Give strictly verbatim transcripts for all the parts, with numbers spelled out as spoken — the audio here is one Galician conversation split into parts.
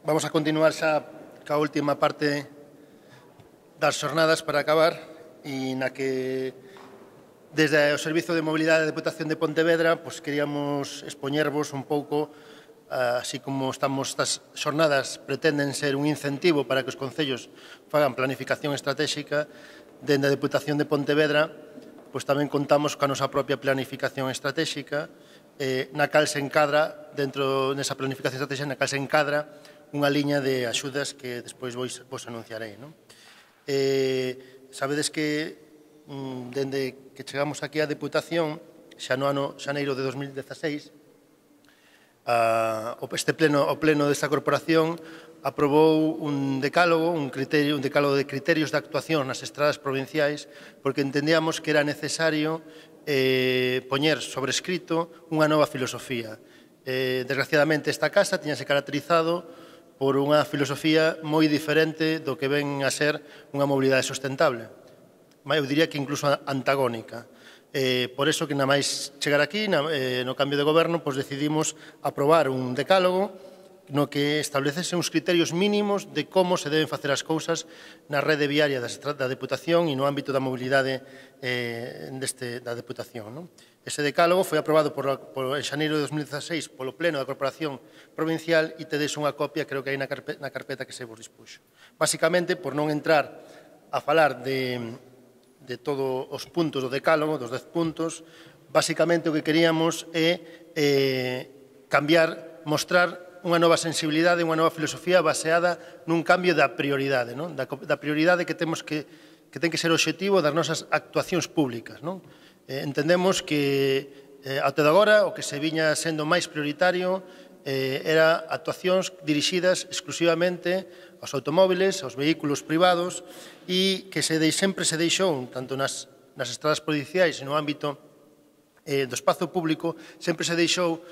Vamos a continuar xa ca última parte das xornadas para acabar e na que desde o Servizo de Mobilidade da Deputación de Pontevedra pues, queríamos expoñervos un pouco, así como estamos estas xornadas pretenden ser un incentivo para que os concellos fagan planificación estratégica dende a Deputación de Pontevedra, pues tamén contamos coa nosa propia planificación estratégica eh, na cal se encadra, dentro desa planificación estratégica, na cal se encadra unha liña de axudas que despois vos, vos anunciarei. Non? Eh, sabedes que mm, dende que chegamos aquí á Deputación, xa no ano xaneiro de dos mil dezaseis, a, este pleno, o pleno desta corporación aprobou un decálogo, un, criterio, un decálogo de criterios de actuación nas estradas provinciais, porque entendíamos que era necesario eh, poñer sobre escrito unha nova filosofía. Eh, desgraciadamente, esta casa tiñase caracterizado por unha filosofía moi diferente do que ven a ser unha mobilidade sustentable. Eu diría que incluso antagónica. Eh, por eso que, na máis chegar aquí, na, eh, no cambio de goberno, pues decidimos aprobar un decálogo no que establecese uns criterios mínimos de como se deben facer as cousas na rede viaria da Deputación e no ámbito da mobilidade eh, deste, da Deputación. Non? Ese decálogo foi aprobado por, por, en xaneiro de dos mil dezaseis polo Pleno da Corporación Provincial e tedes unha copia, creo que hai na carpeta, na carpeta que se vos dispuxo. Básicamente, por non entrar a falar de, de todos os puntos do decálogo, dos dez puntos, básicamente o que queríamos é eh, cambiar, mostrar unha nova sensibilidade, unha nova filosofía baseada nun cambio da prioridade, non? Da, da prioridade que temos que, que ten que ser o obxectivo das nosas actuacións públicas. Non? Eh, entendemos que eh, até de agora o que se viña sendo máis prioritario eh, era actuacións dirixidas exclusivamente aos automóviles, aos vehículos privados e que se de, sempre se deixou, tanto nas, nas estradas provinciais e no ámbito eh, do espazo público, sempre se deixou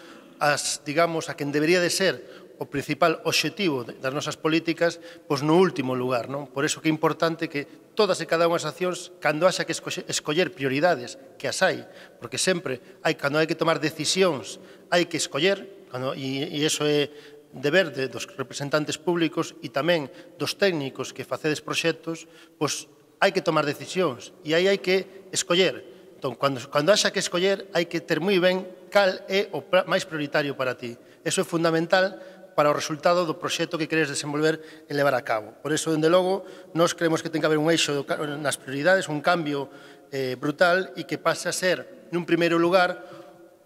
as, digamos, a quen debería de ser o principal obxectivo das nosas políticas, pois no último lugar. Non? Por iso que é importante que todas e cada unha das accións, cando haxa que escoller prioridades, que as hai, porque sempre hai, cando hai que tomar decisións, hai que escoller, cando, e, e iso é deber de, dos representantes públicos e tamén dos técnicos que facedes proxectos, pois hai que tomar decisións e aí hai que escoller. Entón, cando, cando haxa que escoller, hai que ter moi ben cal é o máis prioritario para ti. Eso é fundamental para o resultado do proxecto que queres desenvolver e levar a cabo. Por iso, dende logo, nós creemos que ten que haber un eixo nas prioridades, un cambio eh, brutal e que pase a ser, nun primeiro lugar,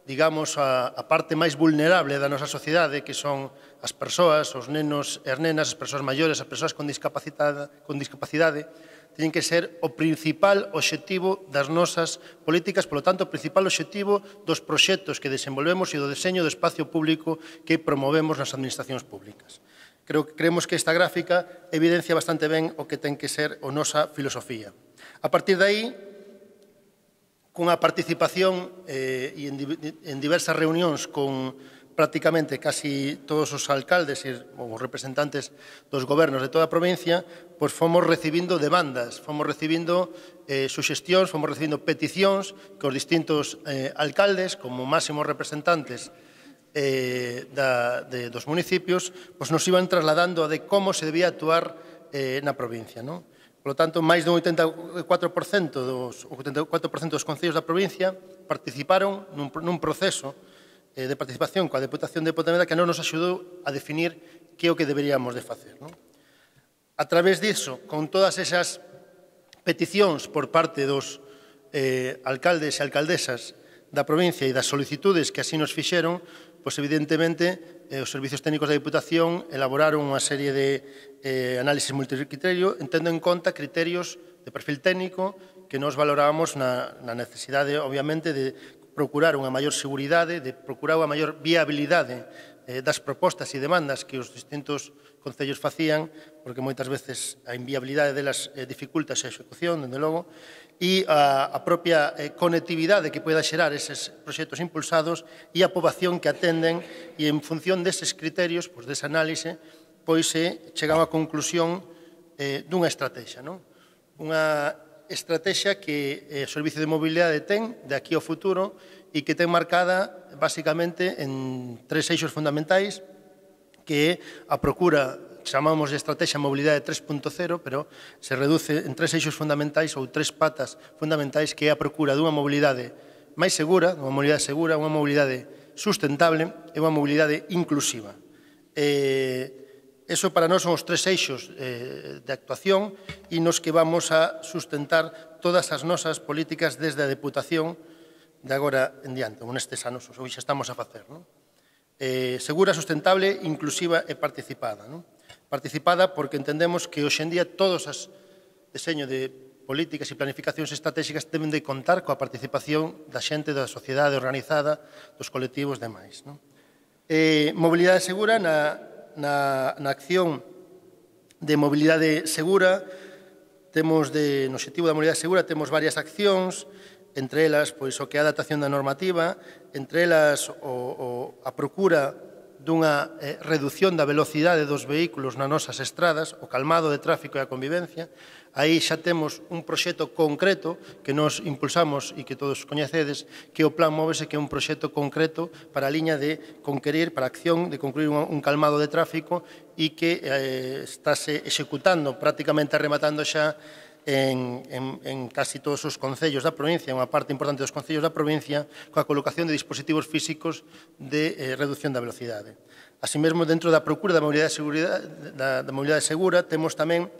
digamos, a, a parte máis vulnerable da nosa sociedade, que son as persoas, os nenos e as nenas, as persoas maiores, as persoas con discapacidade, con discapacidade, teñen que ser o principal obxectivo das nosas políticas, polo tanto, o principal obxectivo dos proxectos que desenvolvemos e do deseño do espacio público que promovemos nas administracións públicas. Creo, creemos que esta gráfica evidencia bastante ben o que ten que ser a nosa filosofía. A partir de aí, cunha participación eh, e en, en diversas reunións con prácticamente casi todos os alcaldes e os representantes dos gobernos de toda a provincia, pois fomos recibindo demandas, fomos recibindo eh, suxestións, fomos recibindo peticións que os distintos eh, alcaldes, como máximos representantes eh, da, de, dos municipios, pois nos iban trasladando a de como se debía actuar eh, na provincia. Non? Por lo tanto, máis dun oitenta e catro por cento dos, oitenta e catro por cento dos concellos da provincia participaron nun, nun proceso de participación coa Deputación de Pontevedra que non nos axudou a definir que é o que deberíamos de facer. Non? A través disso, con todas esas peticións por parte dos eh, alcaldes e alcaldesas da provincia e das solicitudes que así nos fixeron, pois evidentemente eh, os servizos técnicos da Deputación elaboraron unha serie de eh, análisis multicriterio, entendo en conta criterios de perfil técnico que nos valorábamos na, na necesidade, obviamente, de procurar unha maior seguridade, de procurar unha maior viabilidade eh, das propostas e demandas que os distintos concellos facían, porque moitas veces a inviabilidade delas eh, dificulta a execución, dende logo, e a, a propia eh, conectividade que poida xerar eses proxectos impulsados e a poboación que atenden, e en función deses criterios, pois desa análise, pois se chega a unha conclusión eh, dunha estrategia, non? Unha estrategia que eh, o Servicio de Mobilidade ten de aquí ao futuro e que ten marcada basicamente en tres eixos fundamentais que é a procura, chamamos de estrategia mobilidade tres punto cero, pero se reduce en tres eixos fundamentais ou tres patas fundamentais, que é a procura dunha mobilidade máis segura, unha mobilidade segura, unha mobilidade sustentable e unha mobilidade inclusiva. Eh, eso para nós son os tres eixos eh, de actuación e nos que vamos a sustentar todas as nosas políticas desde a Deputación de agora en diante, ou nestes anos, ou xa estamos a facer. Non? Eh, segura, sustentable, inclusiva e participada. Non? Participada porque entendemos que hoxe en día todos os deseños de políticas e planificacións estratégicas deben de contar coa participación da xente, da sociedade organizada, dos colectivos demais. Non? Eh, mobilidade segura, na, na, na acción de mobilidade segura, temos de, no objetivo da mobilidade segura temos varias accións, entre elas pois, o que é a adaptación da normativa, entre elas o, o, a procura dunha eh, reducción da velocidade dos vehículos nas nosas estradas, o calmado de tráfico e a convivencia. Aí xa temos un proxecto concreto que nos impulsamos e que todos coñecedes, que é o Plan Móvese, que é un proxecto concreto para a liña de conquerir, para a acción de concluir un, un calmado de tráfico e que eh, estáse executando, prácticamente rematando xa En, en, en casi todos os concellos da provincia, unha parte importante dos concellos da provincia, coa colocación de dispositivos físicos de eh, reducción da velocidade. Así mesmo, dentro da procura da mobilidade, da, da mobilidade segura, temos tamén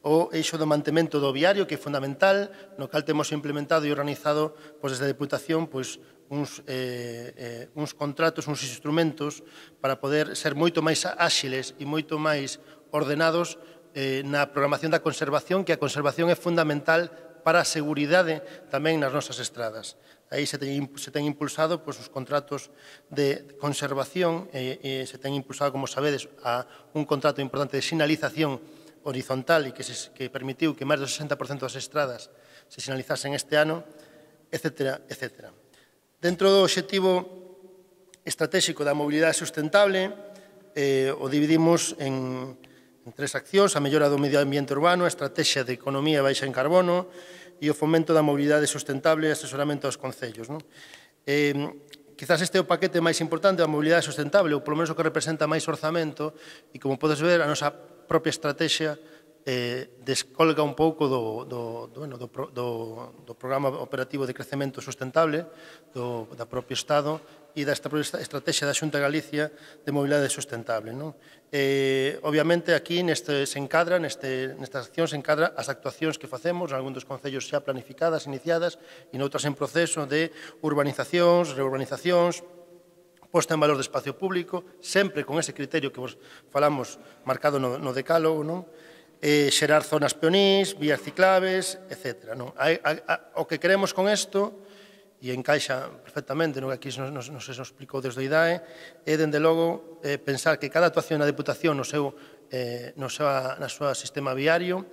o eixo do mantemento do viario, que é fundamental, no cal temos implementado e organizado pois, desde a Deputación pois, uns, eh, eh, uns contratos, uns instrumentos para poder ser moito máis áxiles e moito máis ordenados Eh, na programación da conservación, que a conservación é fundamental para a seguridade tamén nas nosas estradas. Aí se ten, se ten impulsado pois, os contratos de conservación e, e se ten impulsado, como sabedes, a un contrato importante de sinalización horizontal e que, se, que permitiu que máis do sesenta por cento das estradas se sinalizasen este ano, etcétera, etcétera. Dentro do obxectivo estratégico da mobilidade sustentable, eh, o dividimos en en tres accións: a mellora do medio ambiente urbano, a estrategia de economía baixa en carbono e o fomento da mobilidade sustentable e asesoramento aos concellos. Non? Eh, quizás este é o paquete máis importante da mobilidade sustentable, ou polo menos o que representa máis orzamento, e como podes ver, a nosa propia estrategia eh, descolga un pouco do, do, do, bueno, do, do, do programa operativo de crecemento sustentable do, da propio Estado e da estrategia da Xunta de Galicia de mobilidade sustentable. Non? Eh, obviamente, aquí neste, se encadra, neste, nestas accións se encadra as actuacións que facemos, en algún dos concellos xa planificadas, iniciadas, e noutras en proceso de urbanizacións, reurbanizacións, posta en valor de espacio público, sempre con ese criterio que vos falamos marcado no, no decálogo, non? Eh, xerar zonas peonís, vías ciclables, etcétera. Non? A, a, a, o que queremos con isto, e encaixa perfectamente no que aquí nos, nos, nos explicou desde o I D A E, é, dende logo, eh, pensar que cada actuación na Deputación no seu, eh, no seu, na súa sistema viario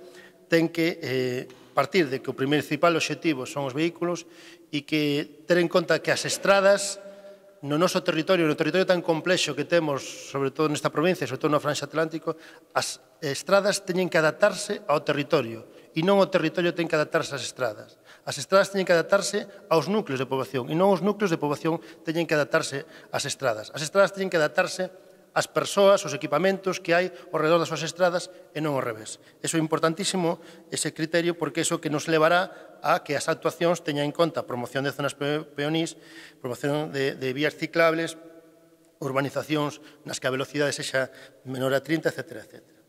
ten que eh, partir de que o principal obxectivo son os vehículos e que ter en conta que as estradas no noso territorio, no territorio tan complexo que temos, sobre todo nesta provincia, sobre todo no Franxa Atlántico, as estradas teñen que adaptarse ao territorio e non o territorio ten que adaptarse ás estradas. As estradas teñen que adaptarse aos núcleos de poboación e non os núcleos de poboación teñen que adaptarse ás estradas. As estradas teñen que adaptarse ás persoas, aos equipamentos que hai ao redor das súas estradas e non ao revés. Iso é importantísimo, ese criterio, porque iso que nos levará a que as actuacións teñan en conta a promoción de zonas peonís, promoción de, de vías ciclables, urbanizacións nas que a velocidade sexa menor a trinta, etcétera, etcétera.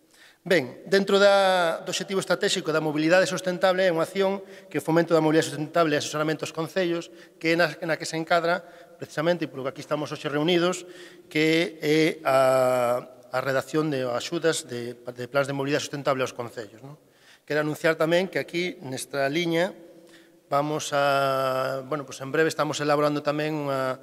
Ben, dentro da, do obxectivo estratégico da mobilidade sustentable é unha acción que fomento da mobilidade sustentable e asesoramento aos concellos, que é na, na que se encadra precisamente, e polo que aquí estamos hoxe reunidos, que é a, a redacción de axudas de, de plans de mobilidade sustentable aos concellos. Non? Quero anunciar tamén que aquí, nesta liña, vamos a, bueno, pues en breve estamos elaborando tamén unha,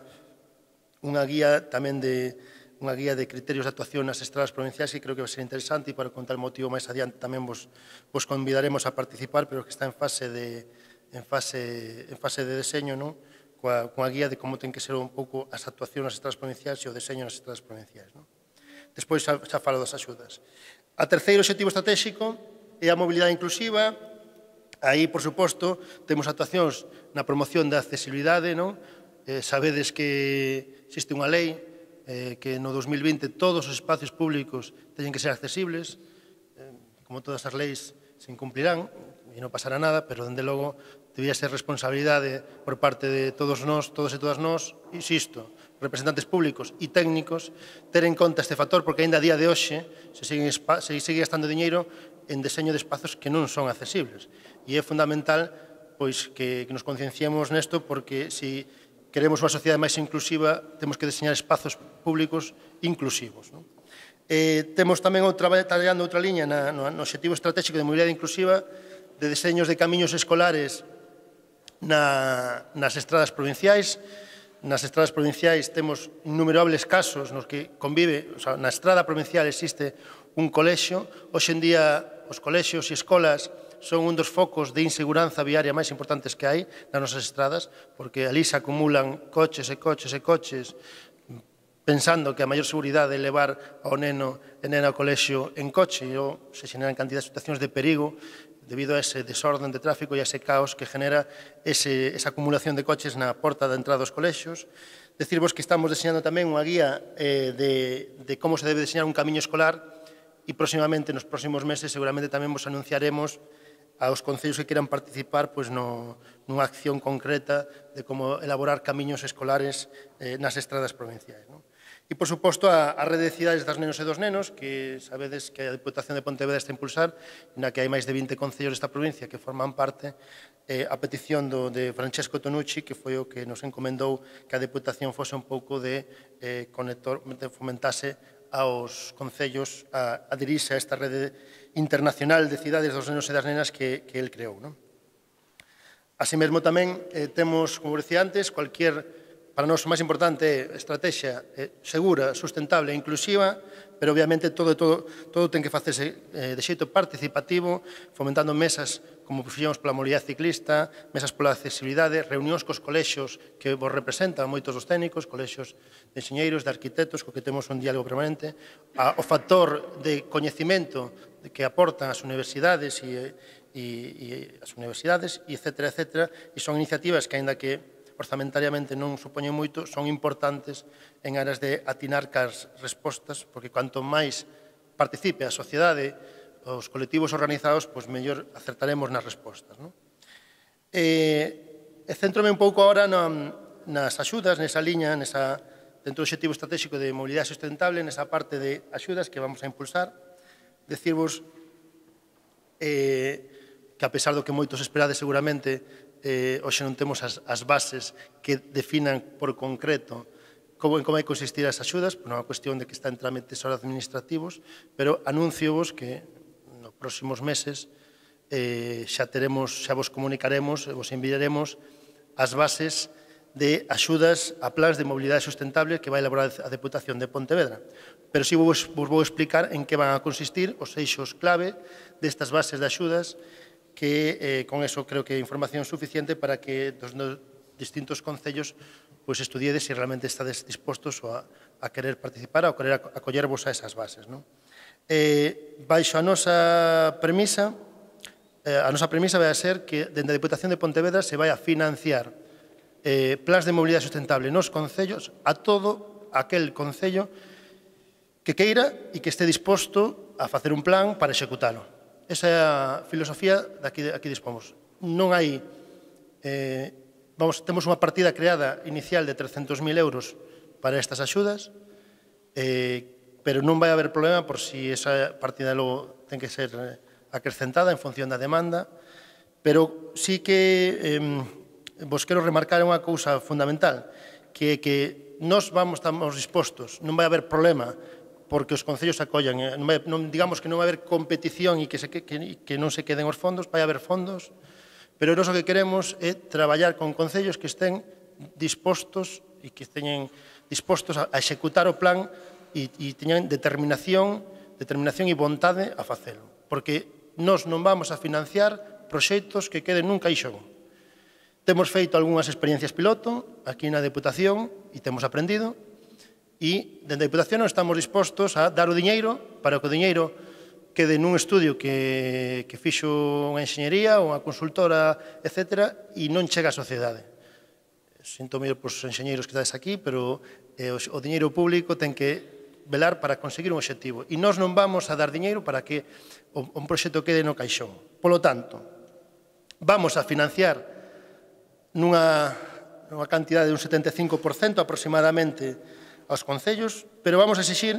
unha guía tamén de unha guía de criterios de actuación nas estradas provinciais que creo que vai ser interesante e para contar o motivo máis adiante tamén vos, vos convidaremos a participar, pero que está en fase de, en fase, en fase de deseño, non? Coa, coa guía de como ten que ser un pouco as actuacións nas estradas provinciais e o deseño nas estradas provinciais. Non? Despois xa, xa falo das axudas. A terceiro obxectivo estratégico é a mobilidade inclusiva. Aí, por suposto, temos actuacións na promoción da accesibilidade. Non? Eh, sabedes que existe unha lei que no dos mil vinte todos os espacios públicos teñen que ser accesibles, como todas as leis se incumplirán e non pasará nada, pero, dende logo, debía ser responsabilidade por parte de todos nós, todos e todas nós, insisto, representantes públicos e técnicos, ter en conta este factor, porque ainda a día de hoxe se sigue, se sigue gastando diñeiro en deseño de espazos que non son accesibles. E é fundamental pois, que, que nos concienciemos nesto, porque se queremos unha sociedade máis inclusiva, temos que deseñar espazos públicos inclusivos. Non? Eh, temos tamén outra, traballando outra liña na, no, no objetivo estratégico de mobilidade inclusiva de deseños de camiños escolares na, nas estradas provinciais. Nas estradas provinciais temos innumerables casos nos que convive, o sea, na estrada provincial existe un colexio. Hoxe en día os colexios e escolas son un dos focos de inseguranza viaria máis importantes que hai nas nosas estradas, porque ali se acumulan coches e coches e coches pensando que a maior seguridade é levar ao neno e nena ao colexio en coche, e se xeneran cantidad de situacións de perigo debido a ese desorden de tráfico e a ese caos que genera ese, esa acumulación de coches na porta de entrada dos colexios. Decirvos que estamos diseñando tamén unha guía eh, de, de como se debe diseñar un camiño escolar, e próximamente, nos próximos meses, seguramente tamén vos anunciaremos aos concellos que queran participar pois, no, nunha acción concreta de como elaborar camiños escolares eh, nas estradas provinciais. Non? E, por suposto, a, a rede de cidades das nenos e dos nenos, que sabedes que a Deputación de Pontevedra está a impulsar, na que hai máis de vinte concellos desta provincia que forman parte, eh, a petición do, de Francesco Tonucci, que foi o que nos encomendou que a Deputación fose un pouco de eh, conector, de fomentase aos concellos a adherirse a esta rede internacional de cidades dos nenos e das nenas que, que el creou. Non? Así mesmo tamén eh, temos, como decía antes, cualquier, para nós o máis importante é estrategia eh, segura, sustentable e inclusiva, pero obviamente todo, todo, todo ten que facerse eh, de xeito participativo, fomentando mesas como fixemos pola mobilidade ciclista, mesas pola accesibilidade, reunións cos colexios que vos representan moitos dos técnicos, colexios de enxeñeiros, de arquitectos, co que temos un diálogo permanente, a, o factor de coñecimento que aportan as universidades e, e, e as universidades, e etcétera, etcétera, e son iniciativas que, aínda que orzamentariamente non supoñen moito, son importantes en aras de atinar cas respostas, porque cuanto máis participe a sociedade, os colectivos organizados, pois mellor acertaremos nas respostas. Non? E, e centrome un pouco agora na, nas axudas, nesa liña, nesa, dentro do objetivo estratégico de mobilidade sustentable, nesa parte de axudas que vamos a impulsar. Decirvos eh, que, a pesar do que moitos esperades seguramente, eh, hoxe non temos as, as bases que definan por concreto como, en como hai que consistir as axudas, non é unha cuestión de que está en trámites ahora administrativos, pero anúnciovos que nos próximos meses eh, xa teremos, xa vos comunicaremos, vos enviaremos as bases de axudas a plans de mobilidade sustentable que vai elaborar a Deputación de Pontevedra. Pero si vos, vos vou explicar en que van a consistir os eixos clave destas bases de axudas, que eh, con eso creo que é información suficiente para que dos distintos concellos pues, estudiedes se realmente estades dispostos a, a querer participar, a querer acollervos a esas bases. Non? Eh, baixo a nosa premisa, eh, a nosa premisa vai a ser que dende a Deputación de Pontevedra se vai a financiar eh, plans de mobilidade sustentable nos concellos a todo aquel concello que queira e que este disposto a facer un plan para executalo. Esa é a filosofía de aquí, aquí dispomos. Non hai, eh, vamos, temos unha partida creada inicial de trescentos mil euros para estas axudas, eh, pero non vai haber problema por si esa partida logo ten que ser acrescentada en función da demanda, pero sí que eh, vos quero remarcar unha cousa fundamental, que é que nós vamos, estamos dispostos, non vai haber problema porque os concellos acollan, non, vai, non digamos que non vai haber competición e que, se, que, que non se queden os fondos, vai haber fondos, pero nós o que queremos é traballar con concellos que estén dispostos e que estén dispostos a executar o plan e, e teñan determinación, determinación e vontade a facelo, porque nós non vamos a financiar proxectos que queden nun caixón. Temos feito algunhas experiencias piloto aquí na Deputación e temos aprendido, e dende a Deputación non estamos dispostos a dar o diñeiro para que o diñeiro quede nun estudio que, que fixo unha enxeñería ou unha consultora, etcétera, e non chega á sociedade. sinto medio para os enxeñeiros que estades aquí, pero eh, o, o diñeiro público ten que velar para conseguir un obxectivo. E nós non vamos a dar diñeiro para que o, un proxecto quede no caixón. Polo tanto, vamos a financiar nunha, nunha cantidade de un setenta e cinco por cento aproximadamente aos concellos, pero vamos a exixir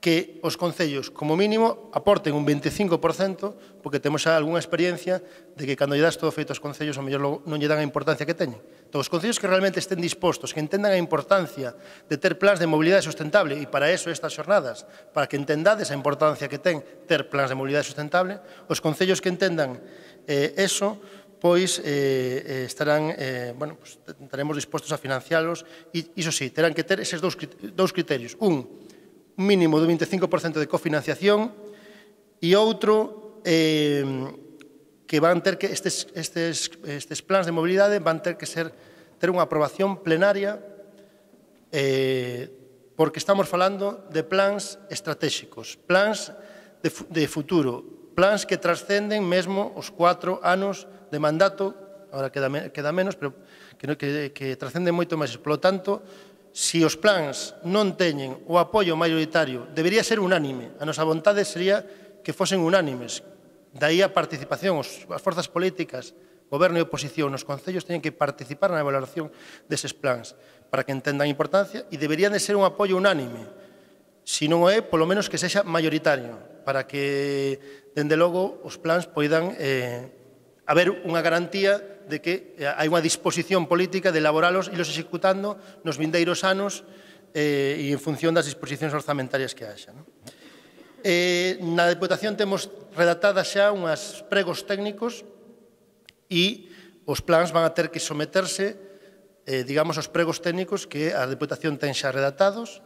que os concellos, como mínimo, aporten un veinticinco por cento, porque temos xa algunha experiencia de que cando lle das todo feito aos concellos, ao mellor non lle dan a importancia que teñen. Entón, os concellos que realmente estén dispostos, que entendan a importancia de ter plans de mobilidade sustentable, e para eso estas xornadas, para que entendades a importancia que ten ter plans de mobilidade sustentable, os concellos que entendan eh, eso, pois eh, estarán, eh, bueno, pues, estaremos dispostos a financiarlos, e iso sí, terán que ter eses dous, dous criterios. Un, un mínimo do veinticinco por cento de cofinanciación, e outro, eh, que van ter que, estes, estes, estes plans de mobilidade van ter que ser, ter unha aprobación plenaria, eh, porque estamos falando de plans estratégicos, plans de, de futuro, plans que trascenden mesmo os cuatro anos de mandato, agora queda, queda menos, pero que, que, que trascenden moito máis. Por lo tanto, se os plans non teñen o apoio maioritario, debería ser unánime. A nosa vontade sería que fosen unánimes. Daí a participación, os, as forzas políticas, goberno e oposición, nos concellos teñen que participar na valoración deses plans para que entendan a importancia, e deberían de ser un apoio unánime. Se non o é, polo menos que sexa maioritario, para que, dende logo, os plans poidan eh, haber unha garantía de que hai unha disposición política de elaboralos e los executando nos vindeiros anos eh, e en función das disposicións orzamentarias que haxa. Non? Eh, na Deputación temos redactadas xa unhas pregos técnicos e os plans van a ter que someterse, eh, digamos, aos pregos técnicos que a Deputación ten xa redactados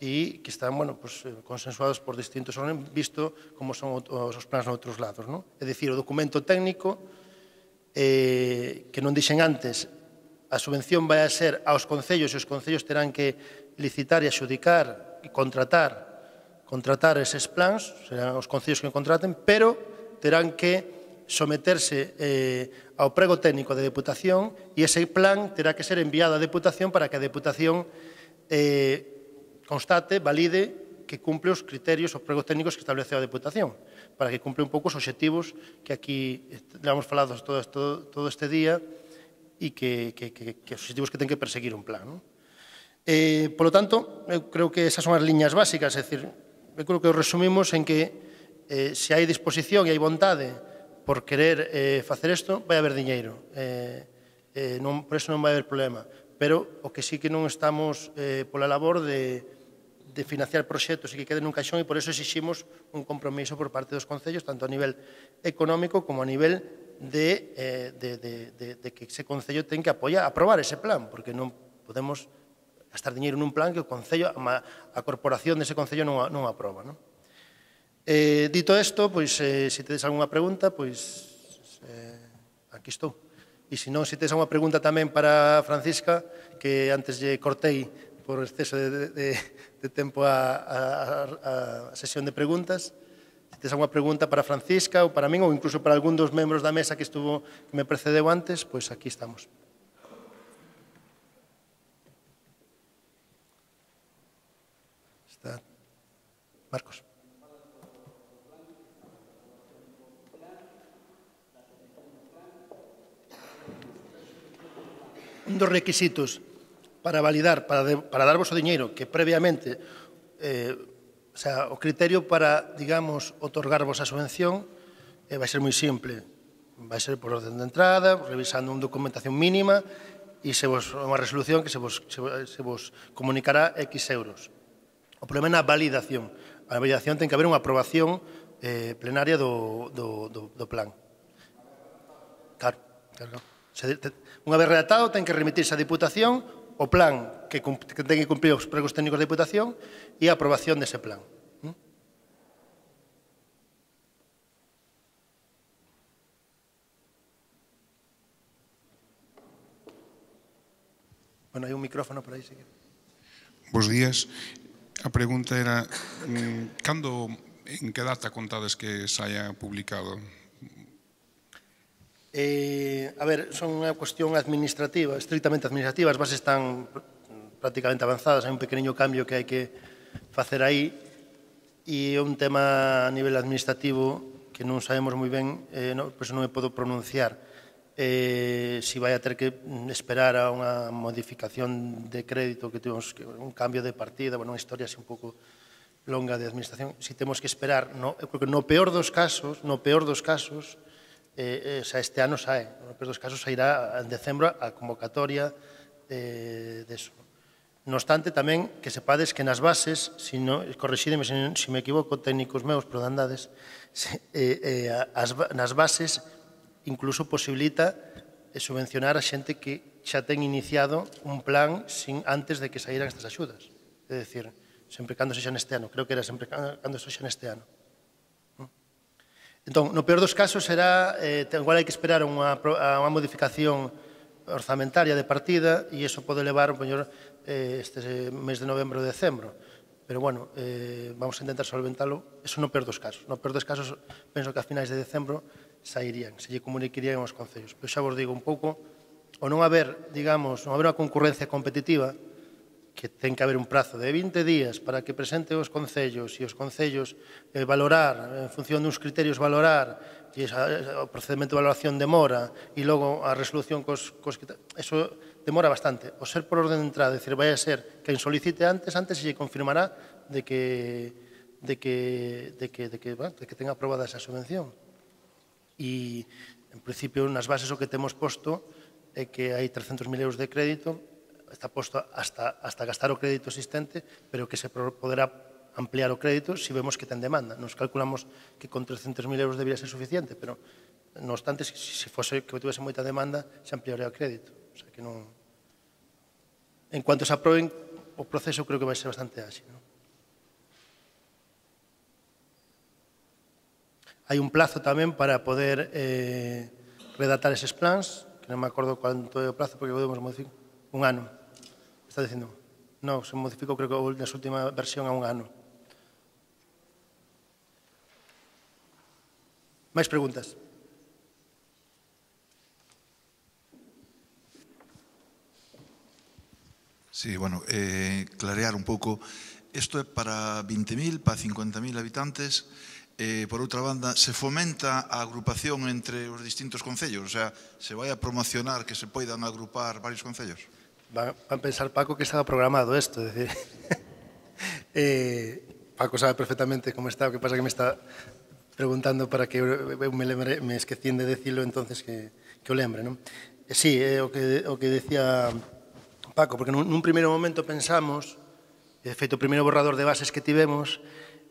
e que están, bueno, pues, consensuados por distintos órganos, visto como son os, os plans noutros lados. Non? É dicir, o documento técnico Eh, que non dixen antes, a subvención vai a ser aos concellos e os concellos terán que licitar e adxudicar e contratar contratar eses plans, serán os concellos que contraten, pero terán que someterse eh, ao prego técnico de Deputación e ese plan terá que ser enviado á Deputación para que a Deputación eh, constate, valide que cumple os criterios, os pregos técnicos que estableceu a Deputación, para que cumple un pouco os obxectivos que aquí hemos falado todo, todo, todo este día e que, que, que, que os obxectivos que ten que perseguir un plan. Non? Eh, por lo tanto, eu creo que esas son as liñas básicas, é dicir, eu creo que os resumimos en que eh, se hai disposición e hai vontade por querer eh, facer isto, vai haber diñeiro. Eh, eh, non, por eso non vai haber problema. Pero o que sí que non estamos eh, pola labor de de financiar proxectos e que queden nun caixón, e por eso exiximos un compromiso por parte dos concellos, tanto a nivel económico como a nivel de, eh, de, de, de, de que ese concello ten que apoiar, aprobar ese plan, porque non podemos gastar diñeiro nun plan que o concello, a corporación dese concello non, non aproba. Non? Eh, dito isto, pois, eh, se tedes algunha pregunta, pois, eh, aquí estou. E se non, se tedes algunha pregunta tamén para Francisca, que antes lle cortei por exceso de, de, de tempo a, a, a sesión de preguntas. Se tens alguna pregunta para Francisca ou para min, ou incluso para algún dos membros da mesa que estuvo que me precedeu antes, pois aquí estamos. Está Marcos. Un dos requisitos para validar, para, de, para darvos o diñeiro, que previamente, eh, o sea, o criterio para, digamos, otorgarvos a subvención eh, vai ser moi simple. Vai ser por orden de entrada, revisando unha documentación mínima e se vos, unha resolución que se vos, se, se vos comunicará X euros. O problema é na validación. A validación ten que haber unha aprobación eh, plenaria do, do, do, do plan. Claro, claro. Se, te, unha vez redactado, ten que remitirse á Diputación o plan que, que ten que cumprir os pregos técnicos da Deputación e a aprobación dese plan. ¿Mm? Bueno, hai un micrófono por aí, si. Bos días. A pregunta era, cando, en que data contades que se haya publicado? Eh, a ver, son unha cuestión administrativa, estrictamente administrativa, as bases están prácticamente avanzadas, hai un pequeniño cambio que hai que facer aí, e é un tema a nivel administrativo que non sabemos moi ben, eh, no, por iso non me podo pronunciar eh, si vai a ter que esperar a unha modificación de crédito, que temos que, un cambio de partida, bueno, unha historia así un pouco longa de administración, si temos que esperar, no, eu creo que no peor dos casos, no peor dos casos, eh, eh, xa este ano sae, no peor dos casos sairá en decembro a convocatoria eh, de eso. No obstante, tamén que sepades que nas bases, si no, correxídeme se, si me equivoco, técnicos meus, pero andades, se, eh, eh, as, nas bases incluso posibilita eh, subvencionar a xente que xa ten iniciado un plan sin, antes de que saíran estas axudas. É dicir, sempre cando sexa neste ano, creo que era sempre cando sexa neste ano. Entón, no peor dos casos será, eh, igual hai que esperar unha, a unha modificación orzamentaria de partida e iso pode levar, mellor, eh, este mes de novembro ou decembro. Pero, bueno, eh, vamos a intentar solventalo. Eso no peor dos casos. No peor dos casos, penso que a finais de decembro sairían, se lle comunicarían aos concellos. Pero xa vos digo un pouco, o non haber, digamos, non haber unha concurrencia competitiva, que ten que haber un prazo de vinte días para que presente os concellos e os concellos eh, valorar, en función duns criterios valorar, e esa, o procedimento de valoración demora, e logo a resolución cos, cos eso demora bastante. O ser por orden de entrada, decir, vai a ser quen solicite antes, antes se lle confirmará de que, de que, de que, de que, bueno, de que tenga aprobada esa subvención. E, en principio, nas bases o que temos posto é que hai trescentos mil euros de crédito, está posto hasta, hasta gastar o crédito existente, pero que se poderá ampliar o crédito se vemos que ten demanda. Nos calculamos que con trescentos mil euros debería ser suficiente, pero, no obstante, se si fose que tivese moita demanda, se ampliaría o crédito. O sea, que non... En cuanto se aproben, o proceso creo que vai ser bastante áxil. ¿No? Hai un plazo tamén para poder eh, redactar eses plans, que non me acordo cuánto é o plazo, porque podemos modificar. Un ano. Está dicindo, non, se modificou creo que na última versión a un ano. Máis preguntas? Sí, bueno, eh, clarear un pouco. Isto é para vinte mil, para cincuenta mil habitantes. Eh, por outra banda, se fomenta a agrupación entre os distintos concellos? O sea, se vai a promocionar que se poidan agrupar varios concellos? Va a pensar Paco que estaba programado isto, é dicir, eh, Paco sabe perfectamente como está, o que pasa que me está preguntando para que eu me, lembre, me esquecín de decirlo, entonces que, que o lembre, non? E sí, é o que, o que decía Paco, porque nun, nun primeiro momento pensamos, de feito o primeiro borrador de bases que tivemos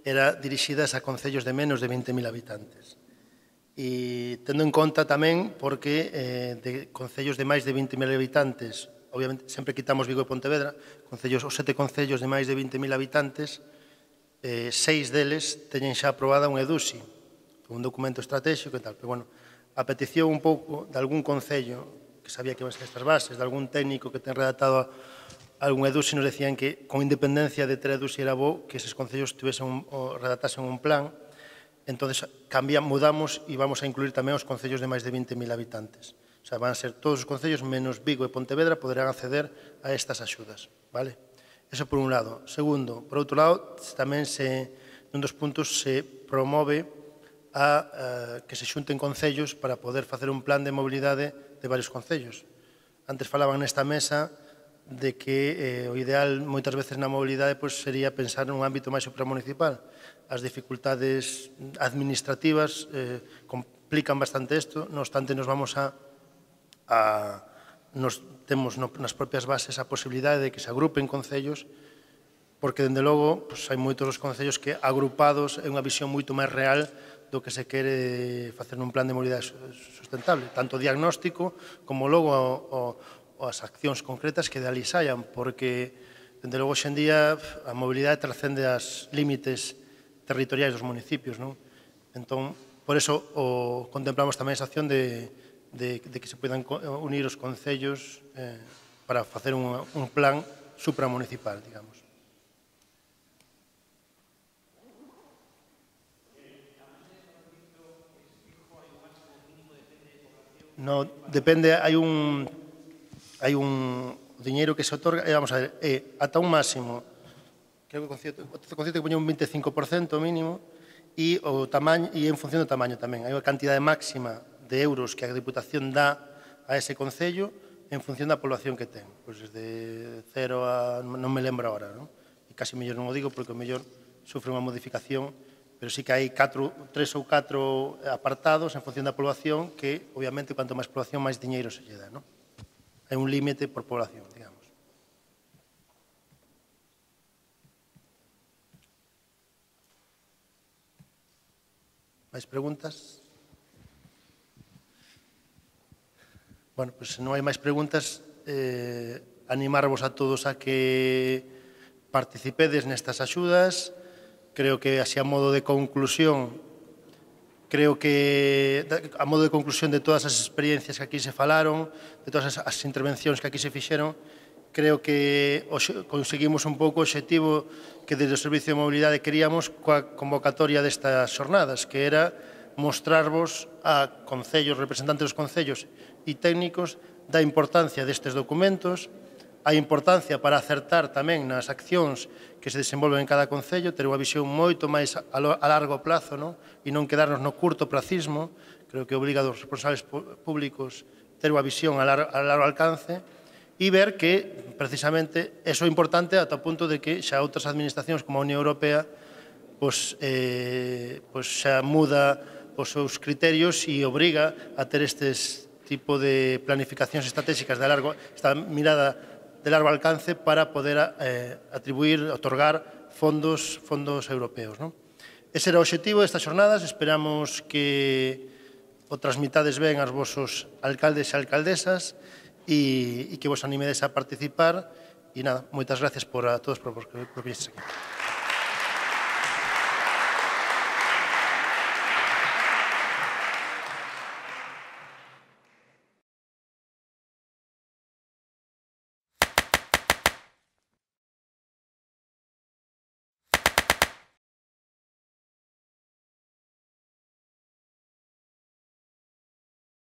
era dirixidas a concellos de menos de vinte mil habitantes. E tendo en conta tamén porque eh, de concellos de máis de vinte mil habitantes, obviamente, sempre quitamos Vigo e Pontevedra, concellos, os sete concellos de máis de vinte mil habitantes, eh, seis deles teñen xa aprobada un EDUSI, un documento estratégico e tal. Pero, bueno, a petición un pouco de algún concello que sabía que iban a ser estas bases, de algún técnico que ten redactado algún EDUSI, nos decían que, con independencia de ter EDUSI, era bo que eses concellos tuvesen un, o redactasen un plan. Entonces, cambiamos, mudamos e vamos a incluir tamén os concellos de máis de vinte mil habitantes. O sea, van a ser todos os concellos menos Vigo e Pontevedra poderán acceder a estas axudas, vale? Eso por un lado. Segundo, por outro lado, tamén se, nun dos puntos se promove a, a que se xunten concellos para poder facer un plan de mobilidade de varios concellos. Antes falaban nesta mesa de que eh, o ideal moitas veces na mobilidade pues, sería pensar nun ámbito máis supramunicipal. As dificultades administrativas eh, complican bastante isto, non obstante nos vamos a A, nos, temos no, nas propias bases a posibilidade de que se agrupen concellos, porque, dende logo, pues, hai moitos dos concellos que agrupados é unha visión moito máis real do que se quere facer nun plan de mobilidade sustentable, tanto diagnóstico como logo o, o, as accións concretas que de ali saian, porque, dende logo, hoxendía a mobilidade trascende as límites territoriais dos municipios, non? Entón, por eso o, contemplamos tamén esa acción de De, de que se poidan unir os concellos eh, para facer un, un plan supramunicipal, digamos. No, depende, hai un hai un diñeiro que se otorga, e vamos a ver, é ata un máximo, creo que o concepto, o concepto que poña un veinticinco por ciento mínimo, e o tamaño, e en función do tamaño tamén. Hai unha cantidade máxima de euros que a Diputación dá a ese concello en función da población que ten. Pois desde cero a, non me lembro agora, non? E casi mellor non o digo porque o mellor sufre unha modificación, pero sí que hai catro, tres ou catro apartados en función da población que, obviamente, cuanto máis población, máis diñeiro se lle dá, non? Hai un límite por población, digamos. Mais preguntas? Bueno, pois se non hai máis preguntas, eh, animarvos a todos a que participedes nestas axudas. Creo que, así a modo de conclusión, creo que a modo de conclusión de todas as experiencias que aquí se falaron, de todas as intervencións que aquí se fixeron, creo que conseguimos un pouco o obxectivo que desde o Servicio de Mobilidade queríamos coa convocatoria destas xornadas, que era mostrarvos a concellos, representantes dos concellos e técnicos da importancia destes documentos, a importancia para acertar tamén nas accións que se desenvolven en cada concello, ter unha visión moito máis a largo plazo, non? E non quedarnos no curto placismo. Creo que obriga aos responsables públicos ter unha visión a largo alcance e ver que, precisamente, eso é importante ata o punto de que xa outras administracións como a Unión Europea pois, eh, pois xa muda os seus criterios e obriga a ter estes tipo de planificacións estratégicas de largo, esta mirada de largo alcance para poder eh, atribuir, otorgar fondos, fondos europeos, non? Ese era o obxectivo destas xornadas. Esperamos que o transmitades ben aos vosos alcaldes e alcaldesas e, e que vos animedes a participar. E nada, moitas gracias por a todos por, por, por vir aquí.